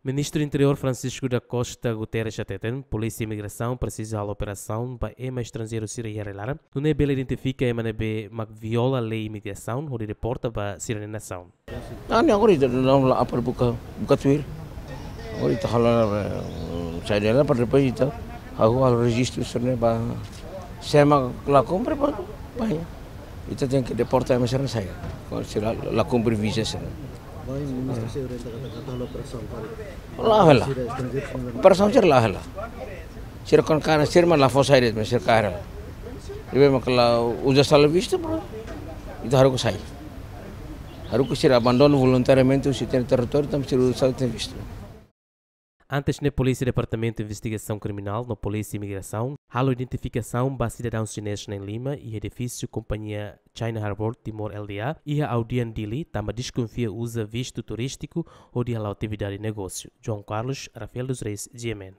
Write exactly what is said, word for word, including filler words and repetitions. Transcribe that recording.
Ministru Interiór Francisco da Costa Guterres hateten, Polísia Imigrasaun presiza halo operasaun ba ema estranjeiru sira iha rai-laran, nune'e bele identifika ema ne'ebé mak viola lei imigrasaun hodi deporta ba sira-nia nasaun. Ah, ne'e agora ita daudaun la apar buka, buka tuir. Agora ita halo, eh, sai dela para depois ita halo, halo rejistu sira-ne'e ba, se ema la kumpre ba, ba, ita tenke deporta ema sira-ne'e sai. Kuandu sira la kumpre viza sira-ne'e. Bainhira ministru sira orienta katak ita halo operasaun para... La hela. Sira estranjeiru sira... Operasaun sira la hela. Sira kuandu kaer sira mak la fó sai de'it, mas sira kaer hela. Ne'ebé mak la uza sala vistu, bro. Ita haruka sai. Haruka sira abandona voluntariamente sira-nia territóriu, tanba sira uza sala, tenke vistu. Antes ne'e, Polísia Departamentu Investigasaun Kriminál no Polísia Imigrasaun halo identifikasaun ba sidadaun xinés na'in-lima iha edifísiu kompañia China Harbour Timor L D A iha Audian, Dili, tanba deskonfia uza vistu turístiku hodi hala'o atividade negósiu. João Carlos, Rafael dos Reis, G M N.